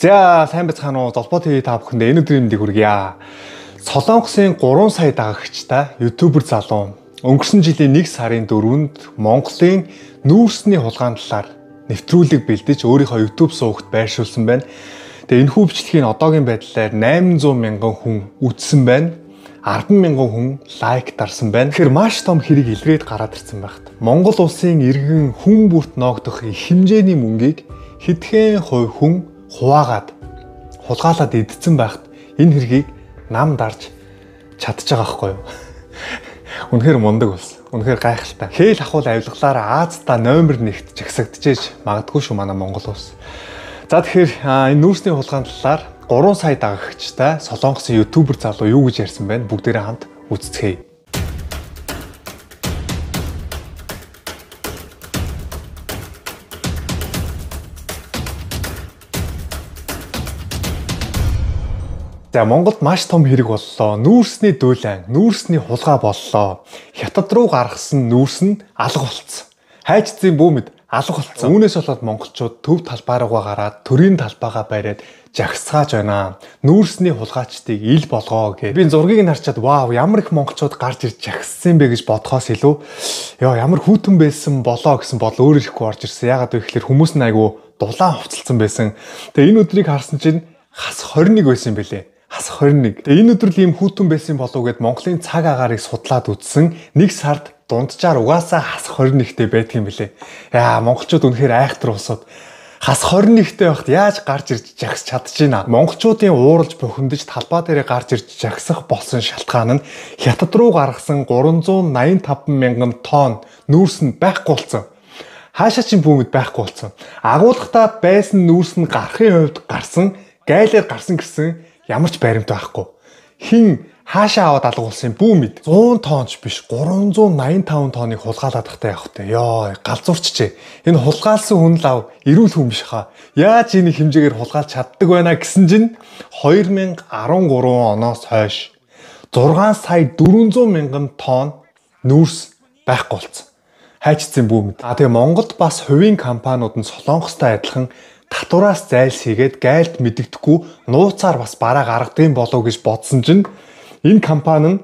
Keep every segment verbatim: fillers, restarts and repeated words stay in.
За сайн байцгаана уу? Долбоо ТV та бүхэндээ энэ өдрийн мэндийг хүргье. Солонгосын гурван сая дагагчтай ютубер залуу өнгөрсөн жилийн нэг сарын дөрөвөнд Монголын нүүрсний хулгайн талаар нэвтрүүлэг бэлдэж өөрийнхөө YouTube суугт байршуулсан байна. Тэгээ энэ хүүвчлэгийг одоогийн байдлаар найман зуун мянган хүн үзсэн байна. арван мянган хүн лайк дарсан байна. Тэгэхээр маш том хэрэг илрээд гараад ирсэн байхад Монгол улсын иргэн хүн бүрт ноогдох их хэмжээний мөнгийг хэдхэн хувь хүн хуваагаад хулгайлаад идсэн байхад энэ хэргийг нам дарж чадж байгаа байхгүй юу? Үнэхээр мундаг ус. Үнэхээр гайхалтай. Хээл ахуул авилгалаар Азта номер нэгт жагсагдчихэж магадгүй шүү манай Монгол улс. За тэгэхээр энэ нүүрсний хулгайн талаар гурван сая дагагчтай Солонгосын ютубер залуу юу гэж ярьсан байна? Бүгдээрээ хамт үзцгээе. За Монголд маш том хэрэг боллоо. Нүүрсний дүүлэн, нүүрсний хулгай боллоо. Хятад руу гаргасан нүүрс нь алга болцсон. Хайчдын бүүмэд алга болцсон. Үүнээс болоод монголчууд төв талбай руугаа гараад төрийн талбайгаа бариад жагсгааж байна. Нүүрсний хулгайчдыг ил болгоо гэ. Би зургийг нь харчаад вау ямар их монголчууд гарч ирж жагссан бэ гэж бодхоос илүү ёо ямар хүүтэн байсан болоо гэсэн бодол өөр ирэхгүй орж ирсэн. Ягаад вэ гэхээр хүмүүс нь айгүй дулаан хувцалсан байсан. Тэгээ энэ өдрийг харсан чинь хас хорин нэг байсан юм бэлээ. Хас хорин нэг. Тэгээ энэ өдрөл ийм хүүтэн байсан болов гэд Монголын цаг агаарыг судлаад үзсэн. Нэг сард дунджаар угаасаа хас хорин нэгтэй байдаг юм бэлээ. Яа монголчууд үнэхээр айхтар усууд хас хорин нэгтэй байхад яаж гарч ирж жагсч чадчихна. Монголчуудын ууралж бухимдаж талбай дээр гарч ирж жагсах болсон шалтгаан нь Хятад руу гаргасан гурван зуун найман таван мянган тонн нүүрс нь байхгүй болсон. Хаашаа ч бүүмэд байхгүй болсон. Агуулгатаа байсан нүүрс нь гарахын хувьд гарсан, гайлаар гарсан гэсэн ямар ч баримт байхгүй. Хин хаашаа аваад алгуулсан бүүмэд зуун тонч биш гурван зуун найман таван тонныг хулгайлаад тахтай явах вэ. Йоо галзуурчжээ. Энэ хулгайлсан хүн лав эрүүл хүн биш хаа. Яаж энийг хэмжээгээр хулгайлж чаддаг байна гэсэн чинь хоёр мянга арван гурван оноос хойш зургаан сая дөрвөн зуун мянган тонн нүүрс байхгүй болсон. Хайчдсан бүүмэд. А тэгээ Монголд бас хувийн компаниуд нь Солонгостой адилхан татвараас зайлсхийгээд гайлт мэддэхгүй нууцаар бас бараа гаргадığım болов гэж бодсон чинь энэ компани нь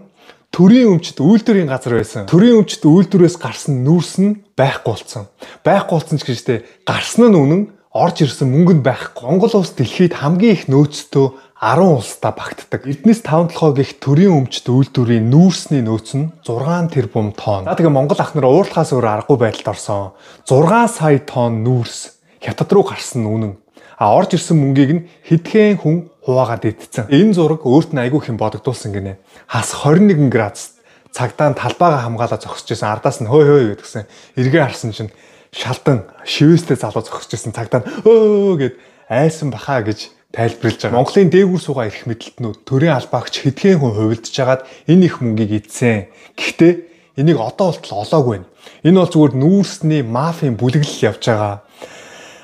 төрийн өмчт үйлдвэрийн газар байсан. Төрийн өмчт үйлдвэрээс гарсан нүүрс нь байхгүй болсон. Байхгүй болсон ч гэжтэй гарсан нь үнэн орж ирсэн мөнгө нь байхгүй. Монгол улс дэлхийд хамгийн их нөөцтэй арван улстай багтдаг. Эрдэнэс таван толгой гэх төрийн өмчт үйлдвэрийн нүүрсний нөөц нь зургаан тэрбум тонн. За тэгээ Монгол ах нар уурлахаас өөр аргагүй байдалд орсон. зургаан сая тонн нүүрс Хятад руу гарсан үнэн. А орж ирсэн мөнгийг нь хэдхэн хүн хуваагаад идсэн. Энэ зураг өөрт нь айгүй хэм бодогдуулсан гинэ. Хас хорин нэгэн градус цагдаа талбайгаа хамгаалаад зогсож байсан. Ардаас нь хөөй хөөй гэдгсэн. Эргээ харсан чинь шалдан шивэстэй залуу зогсож байсан. Цагдаа нь өө гэд айсан бахаа гэж тайлбарлаж байгаа. Монголын дээгүүр суугаа ирэх мэдлэлтнүүд төрийн албаагч хэдхэн хүн хувилдж хагаад энэ их мөнгийг идсэн. Гэхдээ энийг одоо болтол олоогүй байна. Энэ бол зүгээр нүүрсний мафийн бүлэглэл явж байгаа.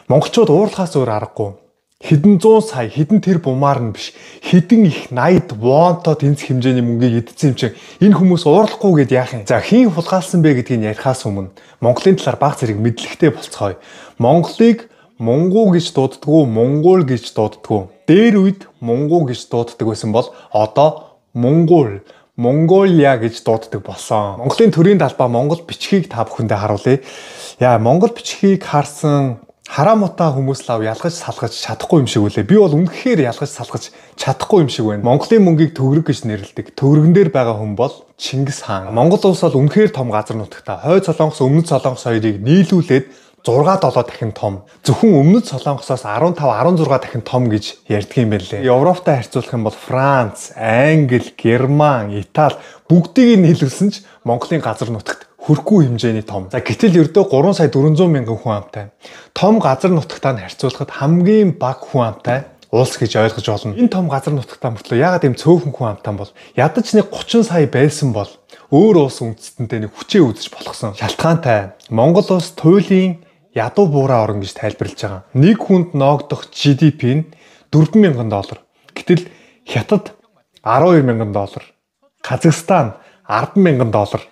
Монголчууд уурлахаас өөр аргагүй. Хэдэн зуун сая, хэдэн тэр бумаар нь биш. Хэдэн их найд вонто тэнцэх хэмжээний мөнгийг идсэн юм чинь энэ хүмүүс уурлахгүй гэд яах юм. За хийн хулгайлсан бэ гэдгийг ярихаас өмнө Монголын талаар баг зэрэг мэдлэгтэй болцгоё. Монголыг Монгол гэж дууддаггүй, Монгол гэж дууддаггүй. Дээр үед Монгол гэж дууддаг байсан бол одоо Монгол, Монголиа гэж дууддаг болсон. Монголын төрийн талбай Монгол бичгийг та бүхэндээ харуулъя. Яа, Монгол бичгийг харсан хараа мутаа хүмүүс лав ялгаж салгаж чадахгүй юм шиг үлээ. Би бол үнэхээр ялгаж салгаж чадахгүй юм шиг байна. Монголын мөнгийг төгрөг гэж нэрлэдэг. Төгрөгн дээр байгаа хүн бол Чингис хаан. Монгол улс бол үнэхээр том газар нутагтай. Хойд Солонгос, Өмнөд Солонгос хоёрыг нийлүүлээд зургаа долоо дахин том. Зөвхөн Өмнөд Солонгосоос арван тав арван зургаа дахин том гэж ярьдаг юм байна лээ. Европтой харьцуулах юм бол Франц, Англи, Герман, Итали бүгдийг нийлүүлсэн ч Монголын газар нутагт хүрхгүй хэмжээний том. За гэтэл ердөө гурван сая дөрвөн зуун мянган хүн амтай. Том газар нутагтаа харьцуулахад хамгийн бага хүн амтай улс гэж ойлгож болно. Энэ том газар нутагтаа мөртлөө ягаад ийм цөөхөн хүн амтай бол ядаж нэг гучин сая байсан бол өөр улс үндэстэнтэй нэг хүчээ үзэж болохсон. Шалтгаантай. Монгол улс туйлын ядуу буураа орн гэж тайлбарлаж байгаа. Нэг хүнд ноогдох джи ди пи нь дөрвөн мянган доллар. Гэтэл Хятад арван хоёр мянган доллар. Казахстан арван мянган доллар.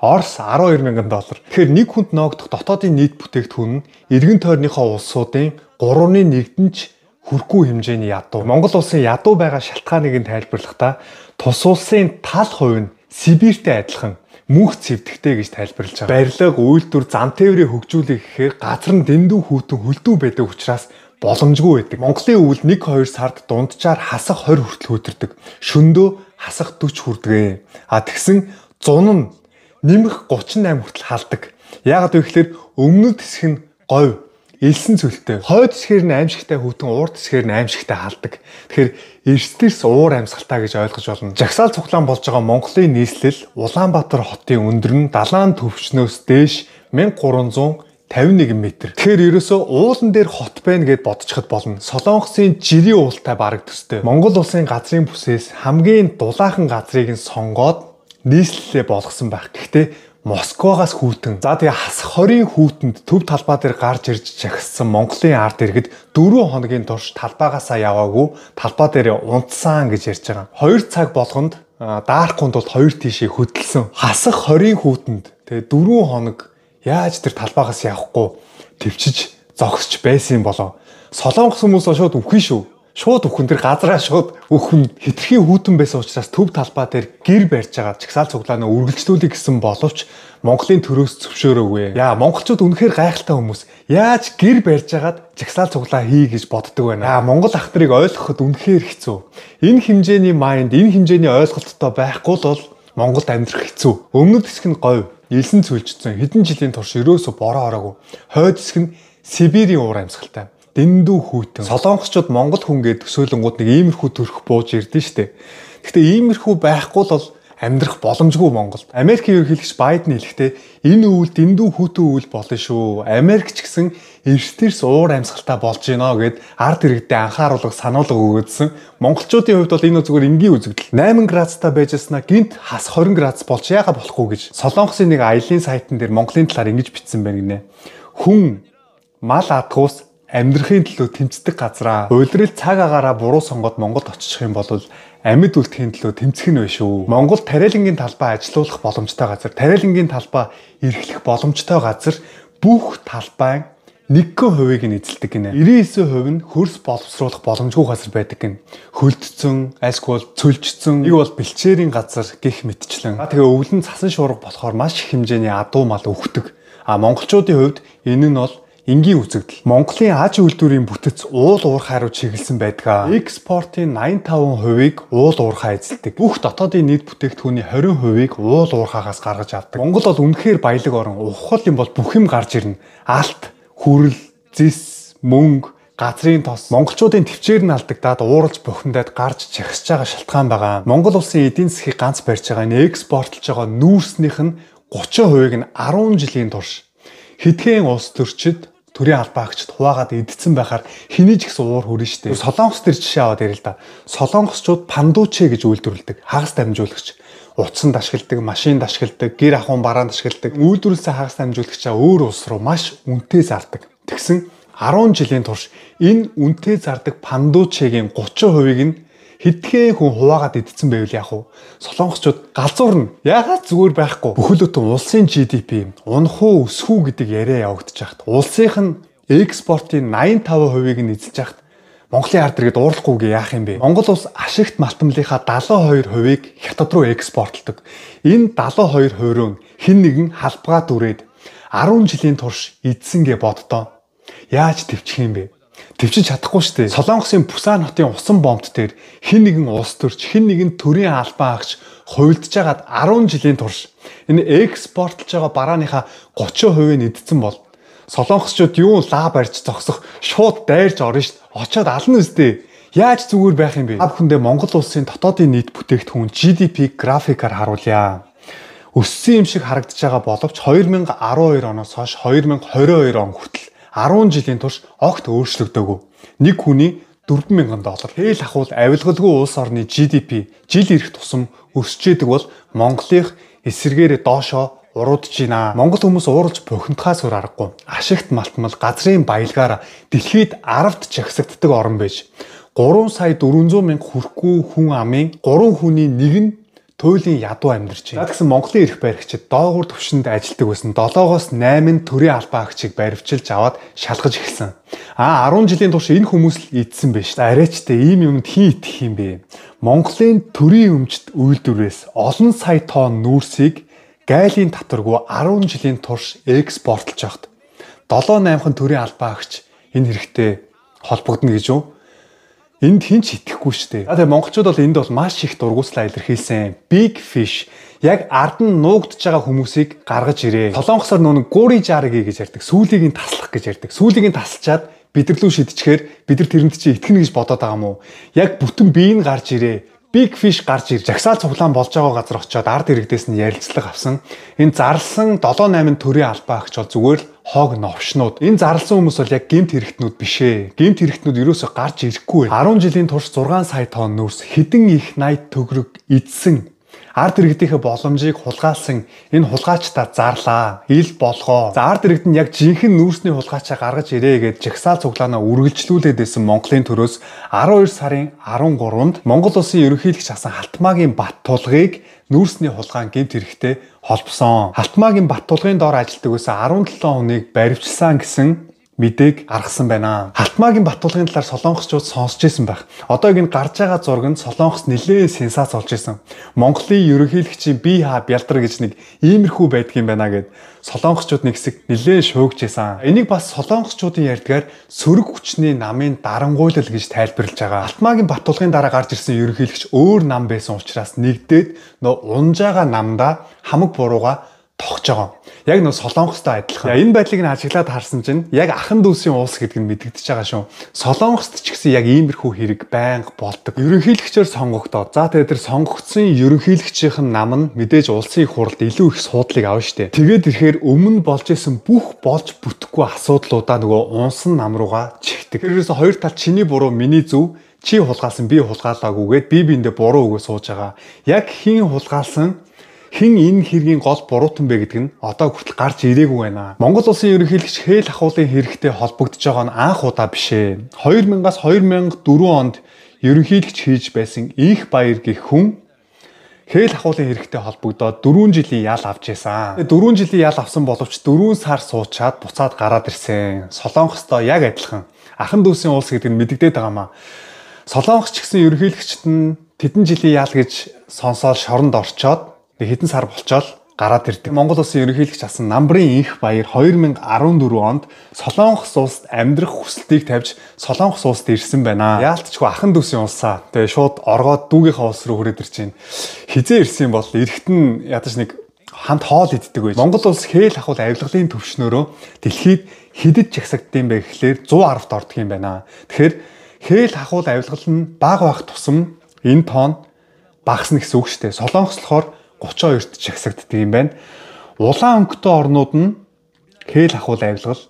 Орос арван хоёр мянган доллар. Тэгэхээр нэг хүнд ноогдох дотоодын нийт бүтээгдэхүүн нь эргэн тойрныхоо улсуудын гуравны нэгдэн ч хүрхгүй хэмжээний ядуу. Монгол улсын ядуу байгаа шалтгааныг нь тайлбарлахдаа тус улсын тал хувь нь Сибиртэй адилхан мөнх цэвдэхтэй гэж тайлбарлаж байгаа. Барилга, үйлдвэр, зам тээврийг хөгжүүлэх гэхээр газар нь дэндүү хүйтэн хөлдөө байдаг учраас боломжгүй байдаг. Монголын өвөл нэг хоёр сард дунджаар хасах хорь хүртэл хөдөрдөг. Шөндөө хасах дөрвөн хүрдэг. А тэгсэн зун нь нэмэх гучин восемь хүртэл халдаг. Яагаад вэ гэхээр өмнөд хэсэг нь говь, элсэн цөлтэй. Хойд хэсгээр нь аимшигтай хүйтэн, урд хэсгээр нь аимшигтай халдаг. Тэгэхээр эрсдэлс уур амьсгалтай гэж ойлгож болно. Жагсаал цуглаан болж байгаа Монголын нийслэл Улаанбаатар хотын өндөр нь далайн төвчнөөс дээш мянга гурван зуун тавин нэг метр. Тэгэхээр ерөөсөө уулан дээр хот байна гэд бодчиход болно. Солонгосын жирийн уултай бараг төстэй. Монгол улсын газрын бүсээс хамгийн дулаахан газрыг нь сонгоод нийслэлээ болгосон байх. Гэхдээ Москвагаас хүйтэн. За тэгээ хасах хорийн хүйтэнд төв талбай дээр гарч ирж жагссан Монголын ард иргэд дөрвөн хоногийн турш талбайгаасаа яваагүй талбай дээр унтсан гэж ярьж байгаа. Хоёр цаг болгонд даарахгүй тулд хоёр тишээ хөдөлсөн. Хасах хорийн хүйтэнд тэгээ дөрвөн хоног яаж тэр талбайгаас явахгүй төвчж зогсож байсан юм болоо. Солонгос хүмүүс шууд үхэн шүү. Шууд үхэн тэр газараа шууд үхэн хитрхи хүйтэн байсан учраас төв талбай дээр гэр барьж байгаа жагсаал цуглаанаа үргэлжлүүлэх гэсэн боловч Монголын төрөөс зөвшөөрөөгүй. Яа, монголчууд үнэхээр гайхалтай хүмүүс. Яаж гэр барьж агаад жагсаал цуглаа хий гэж боддог байна. Яа, монгол ах нарыг ойлгоход үнэхээр хэцүү. Энэ хэмжээний майнд, энэ хэмжээний ойлголттой байхгүй л бол Монголд амьдрах хэцүү. Өмнөд хэсэг нь говь, элсэн цөлжсөн. Хэдэн жилийн турш ерөөсө бороо ороогүй. Хойд хэсэг нь Сибирийн уур амьсгалтай. Дэндүү хүйтэн. Солонгосчууд монгол хүн гээд төсөөлөнгүүд нэг иймэрхүү төрх бууж ирдэ штэ. Гэхдээ иймэрхүү байхгүй л бол амьдрах боломжгүй Монголд. Америкийн ерөнхийлөгч Байден хэлэхдээ энэ өвөл дэндүү хүйтэн өвөл болно шүү. Америк ч гэсэн эрсдэлс уур амьсгалтай болж байна гэд ард иргэдэд анхааруулга сануулга өгөөдсөн. Монголчуудын хувьд бол энэ зүгээр энгийн үзэгдэл. восемь градустай байж яснаа гинт хас двадцать градус болж яага болохгүй гэж Солонгосын нэг аялын сайтн дээр Монголын талаар ингэж бичсэн байна гинэ. Хүн мал адгуус амьдрахын төлөө тэмцдэг газраа. Уйлрал цаг агаараа буруу сонгоод Монголд очих юм бол амьд үлдэхийн төлөө тэмцэх нь вэ шүү. Монгол тариалангийн талбай ажилуулах боломжтой газар, тариалангийн талбай эрхлэх боломжтой газар бүх талбай нэг хувийг нь эзэлдэг гинэ. девяносто девять хувь нь хөрс боловсруулах боломжгүй газар байдаг гин. Хөлдсөн, альскол цөлжсөн, нэг бол бэлчээрийн газар гэх мэтчлэн. Тэгээ өвлөн цасан шуурга болохоор маш их хэмжээний адуу мал өгдөг. А монголчуудын хувьд энэ нь бол энгийн үзэгдэл. Монголын аж үйлдвэрийн бүтэц уул уурхай руу чиглэсэн байдаг. Экспортын восемьдесят пять хувийг уул уурхай эзэлдэг. Бүх дотоодын нийт бүтээгдэхүүний двадцать хувийг уул уурхайгаас гаргаж авдаг. Монгол бол үнэхээр баялаг орн. Ухвал юм бол бүх юм гарч ирнэ. Алт, хүрэл, зис, мөнгө, газрын тос. Монголчуудын төвчээр нь алдагдаад ууралж бухимдаад гарч чагсаж байгаа шалтгаан байгаа. Монгол улсын эдийн засгийг ганц барьж байгаа энэ экспортлж байгаа нүүрснийх нь тридцать хувийг нь десять жилийн турш хэдхэн улс төрчид төрийн албаагчид хуваагаад идсэн байхаар хэний ч гэсэн уур хүрнэ штэ. Солонгос төр жишээ аваад ярил л да. Солонгосчууд пандуче гэж үйлдвэрлэдэг. Хагас дамжуулагч. Утсан дашгилдаг, машин дашгилдаг, гэр ахуйн бараан дашгилдаг. Үйлдвэрлэсэн хагас дамжуулагчаа өөр улс руу маш үнэтэй зардаг. Тэгсэн десять жилийн турш энэ үнэтэй зардаг пандучегийн тридцать хувийг нь хэдхэн хүн хуваагаад идсэн байвал яах вэ? Солонгосчууд галзуурна. Яагаад зүгээр байхгүй? Бүхэл бүтэн улсын джи ди пи унах уу өсөх үү гэдэг яриа явагдаж байхад улсынх нь экспортын восемьдесят пять хувийг нь эзэлж байхад Монголын ард иргэд уурлахгүйгээ яах юм бэ? Монгол улс ашигт малтмлынхаа дагалт two хувийг хятад руу экспортлдог. Энэ дагалт two хувь нь хэн нэгэн халбгаа дүрээд десять жилийн турш эзсэн гэ боддоо. Яаж төвчих юм бэ? Төвчж чадахгүй шүү дээ. Солонгосын Пусан хотын усан бомбт дээр хэн нэгэн улс төрч, хэн нэгэн төрийн албан агч хувилдж байгаад десять жилийн турш энэ экспортлж байгаа барааныхаа тридцать хувийг нь эдсэн бол солонгосчууд юу лаа барьж зогсох шууд дайрж орно шүү дээ. Очоод ална үстэй. Яаж зүгээр байх юм бэ? Та бүхэндээ Монгол улсын дотоодын нийт бүтээгдэхүүн джи ди пи графикаар харуулъя. Өссөн юм шиг харагдаж байгаа боловч two thousand twelve оноос хойш two thousand twenty-two он хүртэл десять жилийн турш огт өөрчлөгдөөгүй. Нэг хүний four thousand доллар. Хэл ахуул авилгалгүй улс орны джи ди пи жил ирэх тусам өсчээдэг бол Монголынх эсэргээр доошоо уруудж байна. Монгол хүмүүс ууралж бухимдахаас өөр аргагүй. Ашигт малтмал газрын баялгаар дэлхийд аравт жагсагддаг орн байж three сая four hundred мянга хүрэхгүй хүн амын three хүний нэг нь туйлын ядуу амьдарч байна. За тэгсэн Монголын эрх баригчид доогуур түвшинд ажилтдаг байсан долоогоос найман төрийн албан агчийг баривчилж аваад шалгаж эхэлсэн. А арван жилийн турш энэ хүмүүс л идсэн байж. За арайчтай ийм юмд хин итгэх юм бэ? Монголын төрийн өмчт үйлдвэрээс олон сая тонн нүүрсийг гайлын татваргүй арван жилийн турш экспортлж явахд долоо наймхан төрийн албан агч энэ хэрэгтэй холбогдно гэж юу? Энд хин ч итгэхгүй шүү дээ. За тэгээ монголчууд бол энд бол маш их дургуутлаа илэрхийлсэн. Big fish яг ард нь нуугдж байгаа хүмүүсийг гаргаж ирээ. Солонгосоор нүг гури жарги гэж ярьдаг. Сүүлийг нь таслах гэж ярьдаг. Сүүлийг нь тасалчаад бидэрлүү шидчихээр бид нар тэрэнд чи итгэнэ гэж бодоод байгаа юм уу? Яг бүтэн бие нь гарч ирээ. Big fish гарч ирж жагсаал цуглаан болж байгаа газар очиод ард иргэдээс нь ярилцлага авсан. Энэ зарлсан долоо найман төрийн албан агч бол зүгээр л хог новшнууд. Энэ зарлсан хүмүүс бол яг гэмт хэрэгтнүүд биш ээ. Гэмт хэрэгтнүүд ерөөсөй гарч ирэхгүй. арван жилийн турш зургаан сая тонн нүүрс хэдэн их найд төгрөг эдсэн. Ард иргэдийнхээ боломжийг хулгайлсан энэ хулгайчдаа зарлаа. Ил болгоо. За ард иргэд нь яг жинхэнэ нүүрсний хулгайчаа гаргаж ирээ гэж жагсаал цуглаанаа үргэлжлүүлээд байсан Монголын төрөөс арван хоёр сарын арван гурванд Монгол улсын ерөнхийлөгч асан Халтмаагийн бат тулгыг нүүрсний хулгайн гэмт хэрэгтэй холбосон. Халтмаагийн бат тулгын доор ажилладаг байсан арван долоо хүнийг баривчилсан гэсэн мэдээг гаргасан байна. Халтмаагийн бат тулгын талаар солонгосчууд сонсч байсан байх. Одоо энэ гарч байгаа зурганд солонгос нэлээд сенсац болж исэн. Монголын ерөнхийлөгчийн бие хаа бялдар гэж нэг иймэрхүү байдаг юм байна гэд солонгосчууд нэг хэсэг нэлээд шуугж исэн. Энийг бас солонгосчуудын ярьдгаар сөрөг хүчний намын дарангуйлал гэж тайлбарлаж байгаа. Халтмаагийн бат тулгын дараа гарч ирсэн ерөнхийлөгч өөр нам байсан учраас нэгдээд нөө унжаага намдаа хамаг бурууга тогтж байгаа. Яг нөө солонгостой адилхан. Энэ байдлыг нь ажиглаад харсан чинь яг ахан дүүсийн уус гэдэг нь мэдэгдэж байгаа шүү. Солонгост ч гэсэн яг иймэрхүү хэрэг байнга болдог. Ерөнхийлөгчөөр сонгогдоод за тэгээд тэр сонгогдсон ерөнхийлөгчийн нам нь мэдээж улсын их хурлд илүү их суудлыг авна штэ. Тэгээд ирэхээр өмнө болж исэн бүх болж бүтэхгүй асуудлуудаа нөгөө унсан нам руугаа чихдэг. Тэрээс хоёр тал чиний буруу миний зөв, чи хулгаалсан би хулгаалаагүйгээд би биэндээ буруу өгөө сууж байгаа. Яг хин хулгаалсан хэн энэ хэргийн гол буруутан бэ гэдэг нь одоо хүртэл гарч ирээгүй байна. Монгол улсын ерөнхийлөгч Хээл ахуулын хэрэгтэй холбогдож байгаа нь анх удаа биш ээ. хоёр мянгаас хоёр мянга дөрвөн онд ерөнхийлөгч хийж байсан Инх Баяр гэх хүн Хээл ахуулын хэрэгтэй холбогдоод дөрвөн жилийн ял авч байсан. дөрвөн жилийн ял авсан боловч дөрвөн сар суучаад буцаад гараад ирсэн. Солонгостой яг адилхан. Ахан дүүсийн улс гэдэг нь мэдэгдээд байгаамаа. Солонгос ч гэсэн ерөнхийлөгчт нь тэдэн жилийн ял гэж сонсоод шоронд орчоод хэдэн сар болчоод гараад ирдэг. Монгол улсын ерөнхийлөгч асан Намбарын Инх Баяр хоёр мянга арван дөрвөн онд Солонгос улсад амьдрах хүсэлтийг тавьж Солонгос улсад ирсэн байна. Яалтчгүй ахан дүүсийн улсаа. Тэгээ шууд оргоод дүүгийнхаа улс руу хүрээд ирж байна. Хизээ ирсэн бол эргэтэн ядаж нэг хамт хоол иддэг байж. Монгол улс Хээл ахуул авилгалын төвшнөөрөө дэлхийд хэдэд жагсагдсан бэ гэхлээр зуун аравт ордог юм байна. Тэгэхээр Хээл ахуул авилгал нь бага байх тусам энэ тоон багасна гэсэн үг шүү дээ. Солонгос болохоор гучин хоёрт жагсагддаг юм байна. Улаан өнгөтэй орнууд нь Хээл ахуул авилгал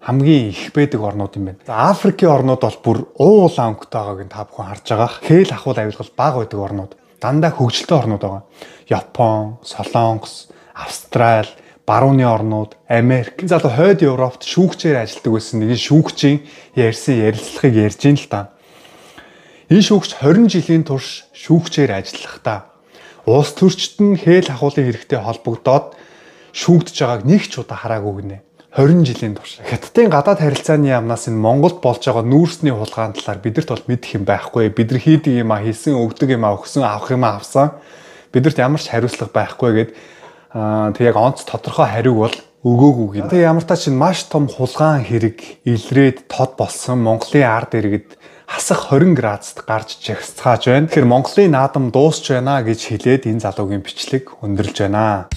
хамгийн их байдаг орнууд юм байна. За Африкийн орнууд бол бүр уу улаан өнгөтэй байгааг нь та бүхэн харж байгаа. Хээл ахуул авилгал бага байдаг орнууд. Дандаа хөгжилтэй орнууд байгаа. Япон, Солонгос, Австрали, барууны орнууд, Америк. Энэ залуу хойд Европт шүүгчээр ажилладаг байсан нэг шүүгчийн ярьсан ярилцлагыг ярьж ийн л та. Энэ шүүгч хорин жилийн турш шүүгчээр ажиллахдаа улс төрчид нь Хээл ахуулын хэрэгтэй холбогдоод шүүгдэж байгааг нэг ч удаа хараагүй гинэ. хорин жилийн турш. Хятадын гадаад харилцааны яамнаас энэ Монголд болж байгаа нүүрсний хулгаан талаар бидэрт бол мэдэх юм байхгүй. Бид нар хийдэг юм а хийсэн, өгдөг юм а өгсөн, авах юм а авсан. Бидэрт ямар ч хариуцлага байхгүй гэд аа тэг яг онц тодорхой хариуг бол өгөөгүй гин. Тэг ямар та чинь маш том хулгаан хэрэг илрээд тод болсон Монголын ард иргэд хасах хорин градусд гарч жагсцааж байна. Тэгэхээр Монголын наадам дуусч байна гэж хэлээд энэ залуугийн бичлэг өндөрлж байна.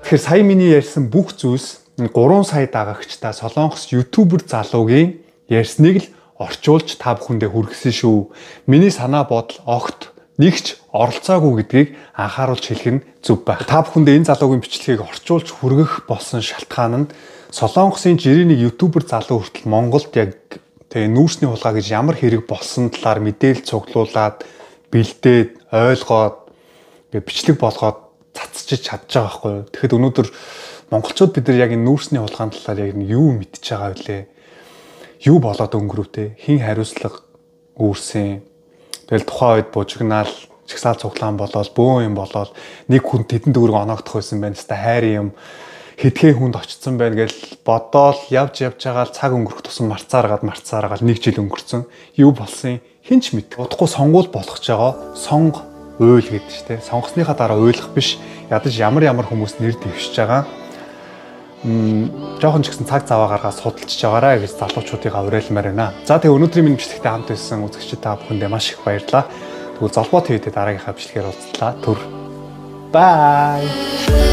Тэгэхээр сая миний ярьсан бүх зүйлс гурван сая дагагчтай Солонгос ютубер залуугийн ярьсныг л орчуулж та бүхэндээ хүргэсэн шүү. Миний санаа бодол огт нэгч оролцоогүй гэдгийг анхааруулж хэлэх нь зөв байх. Та бүхэндээ энэ залуугийн бичлэгийг орчуулж хүргэх болсон шалтгаан нь Солонгосын жирийн нэг ютубер залуу хүртэл Монголд яг тэгээ нүүрсний хулгай гэж ямар хэрэг болсон талаар мэдээлэл цуглуулад бэлдээд ойлгоод бичлэг болгоод цацчиж чадж байгаа байхгүй юу. Тэгэхэд өнөөдөр монголчууд бид нар яг энэ нүүрсний хулгаан талаар яг юу мэдчихэж байгаа вэ? Юу болоод өнгөрөвтэй? Хин хариуцлага үүрсэн. Тэгэл тухайн үед бужигнаал чагсаал цуглаан болоод бөөн юм болоод нэг хүн тэдэн төгрөг оноогдох байсан байна. Хэвээ хайрын юм хэдхэн хүнд очсон байна гэж бодоол явж явж байгаа л цаг өнгөрөх тусам марцааргаад марцааргаад нэг жил өнгөрцөн. Юу болсон хинч мэд. Удахгүй сонгуул болгож байгаа. Сонго уйл гэдэг чинь тэ. Сонгосныхаа дараа уйлах биш. Ядаж ямар ямар хүмүүс нэр дэвшиж байгаа. Мм жоохон ч гэсэн цаг цаваа гаргаад судалж байгаарай гэж залуучуудыгаа уриалмаар байна. За тэгээ өнөөдрийн минь бичлэгтээ хамт байсан үзэгчид та бүхэндээ маш их баярлалаа. Тэгвэл Золбоо ТV-д дараагийнхаа бичлэгээр уулзлаа. Түр. Bye.